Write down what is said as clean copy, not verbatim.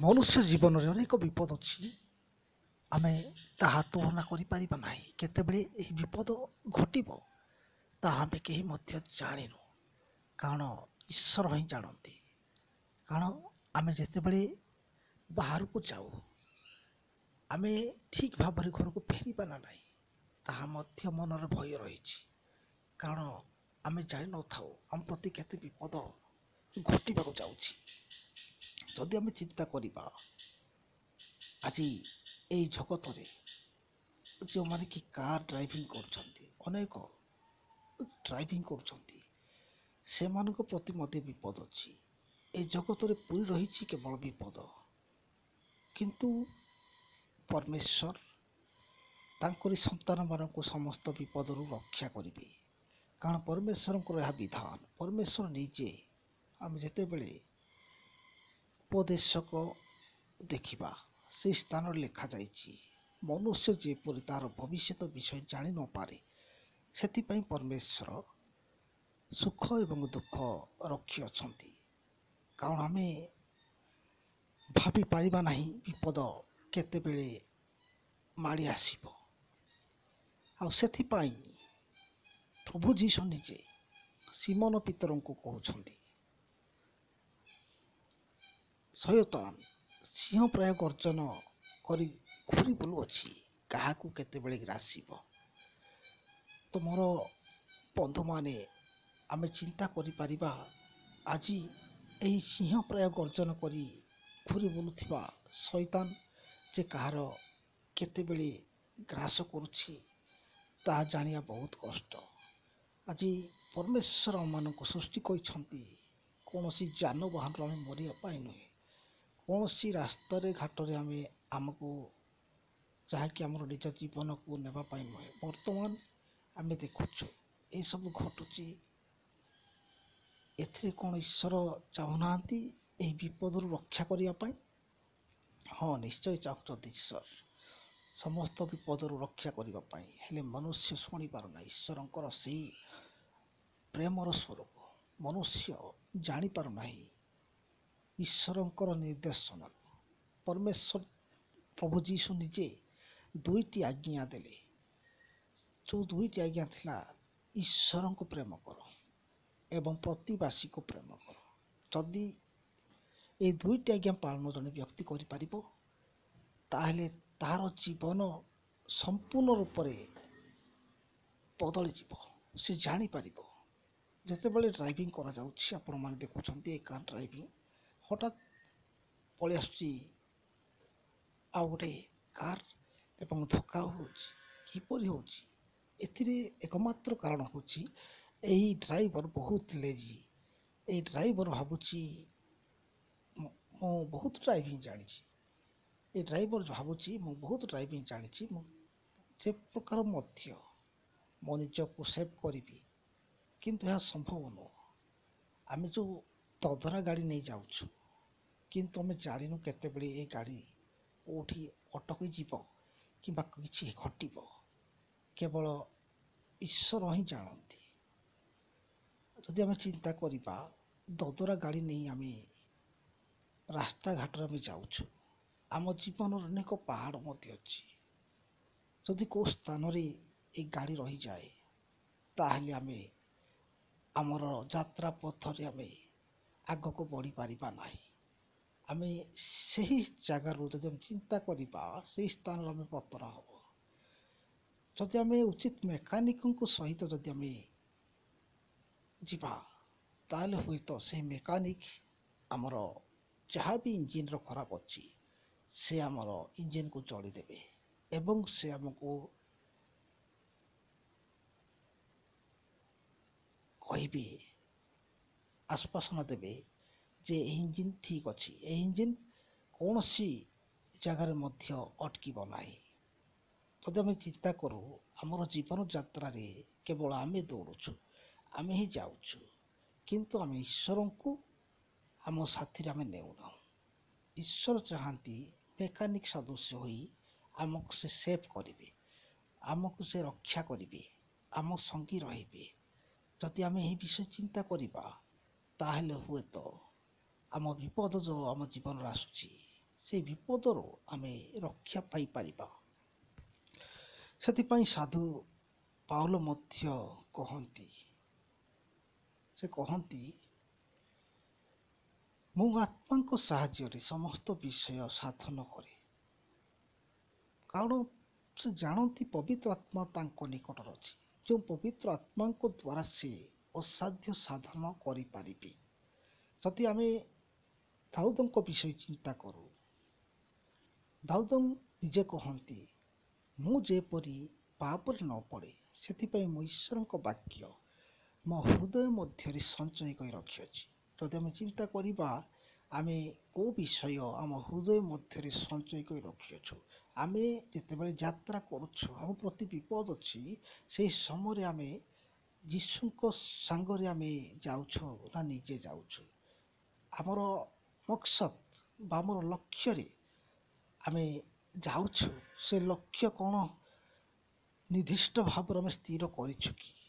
ମନୁଷ୍ୟ ଜୀବନରେ ଅନେକ ବିପଦ ଅଛି, ଆମେ ତାହା ତୁଳନା କରିପାରିବା ନାହିଁ। କେତେବେଳେ ଏହି ବିପଦ ଘଟିବ ତାହା ଆମେ କେହି ମଧ୍ୟ ଜାଣିନୁ, କାରଣ ଈଶ୍ୱର ହିଁ ଜାଣନ୍ତି। କାରଣ ଆମେ ଯେତେବେଳେ ବାହାରକୁ ଯାଉ, ଆମେ ଠିକ୍ ଭାବରେ ଘରକୁ ଫେରିବା ନା ନାହିଁ ତାହା ମଧ୍ୟ ମନରେ ଭୟ ରହିଛି, କାରଣ ଆମେ ଜାଣିନଥାଉ ଆମ ପ୍ରତି କେତେ ବିପଦ ଘଟିବାକୁ ଯାଉଛି। ଯଦି ଆମେ ଚିନ୍ତା କରିବା, ଆଜି ଏଇ ଜଗତରେ ଯେଉଁମାନେ କି କାର୍ ଡ୍ରାଇଭିଂ କରୁଛନ୍ତି, ଅନେକ ଡ୍ରାଇଭିଂ କରୁଛନ୍ତି, ସେମାନଙ୍କ ପ୍ରତି ମଧ୍ୟ ବିପଦ ଅଛି। ଏ ଜଗତରେ ପୂରି ରହିଛି କେବଳ ବିପଦ, କିନ୍ତୁ ପରମେଶ୍ୱର ତାଙ୍କରି ସନ୍ତାନମାନଙ୍କୁ ସମସ୍ତ ବିପଦରୁ ରକ୍ଷା କରିବେ, କାରଣ ପରମେଶ୍ୱରଙ୍କର ଏହା ବିଧାନ। ପରମେଶ୍ୱର ନିଜେ, ଆମେ ଯେତେବେଳେ ଉପଦେଶକ ଦେଖିବା, ସେହି ସ୍ଥାନରେ ଲେଖାଯାଇଛି, ମନୁଷ୍ୟ ଯେପରି ତାର ଭବିଷ୍ୟତ ବିଷୟ ଜାଣି ନପାରେ, ସେଥିପାଇଁ ପରମେଶ୍ୱର ସୁଖ ଏବଂ ଦୁଃଖ ରଖିଅଛନ୍ତି। କାରଣ ଆମେ ଭାବିପାରିବା ନାହିଁ ବିପଦ କେତେବେଳେ ମାଡ଼ି ଆସିବ। ଆଉ ସେଥିପାଇଁ ପ୍ରଭୁ ଯୀଶୁ ନିଜେ ସିମନ ପିତରଙ୍କୁ କହୁଛନ୍ତି, ଶୟତାନ ସିଂହ ପ୍ରାୟ ଗର୍ଜନ କରି ଘୁରି ବୁଲୁଅଛି, କାହାକୁ କେତେବେଳେ ଗ୍ରାସିବ। ତ ମୋର ବନ୍ଧୁମାନେ, ଆମେ ଚିନ୍ତା କରିପାରିବା, ଆଜି ଏହି ସିଂହ ପ୍ରାୟ ଗର୍ଜନ କରି ଘୁରି ବୁଲୁଥିବା ଶୟତାନ ଯେ କାହାର କେତେବେଳେ ଗ୍ରାସ କରୁଛି ତାହା ଜାଣିବା ବହୁତ କଷ୍ଟ। ଆଜି ପରମେଶ୍ୱର ଆମମାନଙ୍କୁ ସୃଷ୍ଟି କରିଛନ୍ତି କୌଣସି ଯାନବାହନରୁ ଆମେ ମରିବା ପାଇଁ ନୁହେଁ, କୌଣସି ରାସ୍ତାରେ ଘାଟରେ ଆମେ ଆମକୁ ଯାହାକି ଆମର ନିଜ ଜୀବନକୁ ନେବା ପାଇଁ ନୁହେଁ। ବର୍ତ୍ତମାନ ଆମେ ଦେଖୁଛୁ ଏସବୁ ଘଟୁଛି, ଏଥିରେ କ'ଣ ଈଶ୍ୱର ଚାହୁଁନାହାନ୍ତି ଏହି ବିପଦରୁ ରକ୍ଷା କରିବା ପାଇଁ? ହଁ, ନିଶ୍ଚୟ ଚାହୁଁଛନ୍ତି ଈଶ୍ୱର ସମସ୍ତ ବିପଦରୁ ରକ୍ଷା କରିବା ପାଇଁ। ହେଲେ ମନୁଷ୍ୟ ଶୁଣିପାରୁନାହିଁ ଈଶ୍ୱରଙ୍କର ସେଇ ପ୍ରେମର ସ୍ୱରୂପ। ମନୁଷ୍ୟ ଜାଣିପାରୁନାହିଁ ଈଶ୍ୱରଙ୍କର ନିର୍ଦ୍ଦେଶନାକୁ। ପରମେଶ୍ୱର ପ୍ରଭୁ ଯୀଶୁ ନିଜେ ଦୁଇଟି ଆଜ୍ଞା ଦେଲେ। ଯେଉଁ ଦୁଇଟି ଆଜ୍ଞା ଥିଲା, ଈଶ୍ୱରଙ୍କୁ ପ୍ରେମ କର ଏବଂ ପ୍ରତିବାସୀକୁ ପ୍ରେମ କର। ଯଦି ଏଇ ଦୁଇଟି ଆଜ୍ଞା ପାଳନ ଜଣେ ବ୍ୟକ୍ତି କରିପାରିବ, ତାହେଲେ ତାହାର ଜୀବନ ସମ୍ପୂର୍ଣ୍ଣ ରୂପରେ ବଦଳିଯିବ। ସେ ଜାଣିପାରିବ। ଯେତେବେଳେ ଡ୍ରାଇଭିଂ କରାଯାଉଛି, ଆପଣମାନେ ଦେଖୁଛନ୍ତି ଏ କାର୍ ଡ୍ରାଇଭିଂ, ହଠାତ୍ ପଳେଇ ଆସୁଛି ଆଉ ଗୋଟେ କାର୍ ଏବଂ ଧକ୍କା ହେଉଛି। କିପରି ହେଉଛି? ଏଥିରେ ଏକମାତ୍ର କାରଣ ହେଉଛି ଏହି ଡ୍ରାଇଭର ବହୁତ ଲେଜି। ଏଇ ଡ୍ରାଇଭର ଭାବୁଛି ମୁଁ ବହୁତ ଡ୍ରାଇଭିଂ ଜାଣିଛି, ଏ ଡ୍ରାଇଭର ଭାବୁଛି ମୁଁ ବହୁତ ଡ୍ରାଇଭିଂ ଜାଣିଛି, ମୁଁ ଯେ ପ୍ରକାର ମଧ୍ୟ ମୋ ନିଜକୁ ସେଭ୍ କରିବି, କିନ୍ତୁ ଏହା ସମ୍ଭବ ନୁହଁ। ଆମେ ଯେଉଁ ଦଦରା ଗାଡ଼ି ନେଇ ଯାଉଛୁ, କିନ୍ତୁ ଆମେ ଜାଣିନୁ କେତେବେଳେ ଏ ଗାଡ଼ି କେଉଁଠି ଅଟକି ଯିବ କିମ୍ବା କିଛି ଘଟିବ, କେବଳ ଈଶ୍ୱର ହିଁ ଜାଣନ୍ତି। ଯଦି ଆମେ ଚିନ୍ତା କରିବା, ଦଦରା ଗାଡ଼ି ନେଇ ଆମେ ରାସ୍ତାଘାଟରେ ଆମେ ଯାଉଛୁ, ଆମ ଜୀବନର ଅନେକ ପାହାଡ଼ ମଧ୍ୟ ଅଛି। ଯଦି କେଉଁ ସ୍ଥାନରେ ଏ ଗାଡ଼ି ରହିଯାଏ, ତାହେଲେ ଆମେ ଆମର ଯାତ୍ରା ପଥରେ ଆମେ ଆଗକୁ ବଢ଼ିପାରିବା ନାହିଁ। ଆମେ ସେହି ଜାଗାରୁ ଯଦି ଆମେ ଚିନ୍ତା କରିବା, ସେହି ସ୍ଥାନରେ ଆମେ ପତନ ହେବ। ଯଦି ଆମେ ଉଚିତ ମେକାନିକଙ୍କ ସହିତ ଯଦି ଆମେ ଯିବା, ତାହେଲେ ହୁଏତ ସେହି ମେକାନିକ ଆମର ଯାହା ବି ଇଞ୍ଜିନ୍ର ଖରାପ ଅଛି, ସେ ଆମର ଇଞ୍ଜିନ୍କୁ ଚଳିଦେବେ ଏବଂ ସେ ଆମକୁ କହିବେ, ଆଶ୍ୱାସନା ଦେବେ ଯେ ଏହି ଇଞ୍ଜିନ୍ ଠିକ୍ ଅଛି, ଏହି ଇଞ୍ଜିନ୍ କୌଣସି ଜାଗାରେ ମଧ୍ୟ ଅଟକିବ ନାହିଁ। ଯଦି ଆମେ ଚିନ୍ତା କରୁ, ଆମର ଜୀବନ ଯାତ୍ରାରେ କେବଳ ଆମେ ଦୌଡ଼ୁଛୁ, ଆମେ ହିଁ ଯାଉଛୁ, କିନ୍ତୁ ଆମେ ଈଶ୍ୱରଙ୍କୁ ଆମ ସାଥିରେ ଆମେ ନେଉନାହୁଁ। ଈଶ୍ୱର ଚାହାନ୍ତି ମେକାନିକ୍ ସଦୃଶ୍ୟ ହୋଇ ଆମକୁ ସେ ସେଭ୍ କରିବେ, ଆମକୁ ସେ ରକ୍ଷା କରିବେ, ଆମ ସଙ୍ଗୀ ରହିବେ। ଯଦି ଆମେ ଏହି ବିଷୟ ଚିନ୍ତା କରିବା, ତାହେଲେ ହୁଏତ ଆମ ବିପଦ ଯେଉଁ ଆମ ଜୀବନରେ ଆସୁଛି, ସେଇ ବିପଦରୁ ଆମେ ରକ୍ଷା ପାଇପାରିବା। ସେଥିପାଇଁ ସାଧୁ ପାଉଲ ମଧ୍ୟ କହନ୍ତି, ସେ କହନ୍ତି, ମୁଁ ଆତ୍ମାଙ୍କ ସାହାଯ୍ୟରେ ସମସ୍ତ ବିଷୟ ସାଧନ କରେ। କାରଣ ସେ ଜାଣନ୍ତି ପବିତ୍ର ଆତ୍ମା ତାଙ୍କ ନିକଟରେ ଅଛି, ଯେଉଁ ପବିତ୍ର ଆତ୍ମାଙ୍କ ଦ୍ୱାରା ସେ ଅସାଧ୍ୟ ସାଧନ କରିପାରିବେ। ଯଦି ଆମେ ଦାଉଦଙ୍କ ବିଷୟ ଚିନ୍ତା କରୁ, ଦାଉଦ ନିଜେ କହନ୍ତି, ମୁଁ ଯେପରି ପାପରେ ନ ପଡ଼େ ସେଥିପାଇଁ ମୁଁ ଈଶ୍ୱରଙ୍କ ବାକ୍ୟ ମୋ ହୃଦୟ ମଧ୍ୟରେ ସଞ୍ଚୟ କରି ରଖିଅଛି। ଯଦି ଆମେ ଚିନ୍ତା କରିବା, ଆମେ କେଉଁ ବିଷୟ ଆମ ହୃଦୟ ମଧ୍ୟରେ ସଞ୍ଚୟ କରି ରଖିଅଛୁ? ଆମେ ଯେତେବେଳେ ଯାତ୍ରା କରୁଛୁ, ଆମ ପ୍ରତି ବିପଦ ଅଛି, ସେହି ସମୟରେ ଆମେ ଯୀଶୁଙ୍କ ସାଙ୍ଗରେ ଆମେ ଯାଉଛୁ ନା ନିଜେ ଯାଉଛୁ? ଆମର ମକସଦ ବା ଆମର ଲକ୍ଷ୍ୟରେ ଆମେ ଯାଉଛୁ, ସେ ଲକ୍ଷ୍ୟ କ'ଣ ନିର୍ଦ୍ଦିଷ୍ଟ ଭାବରେ ଆମେ ସ୍ଥିର କରିଛୁ କି?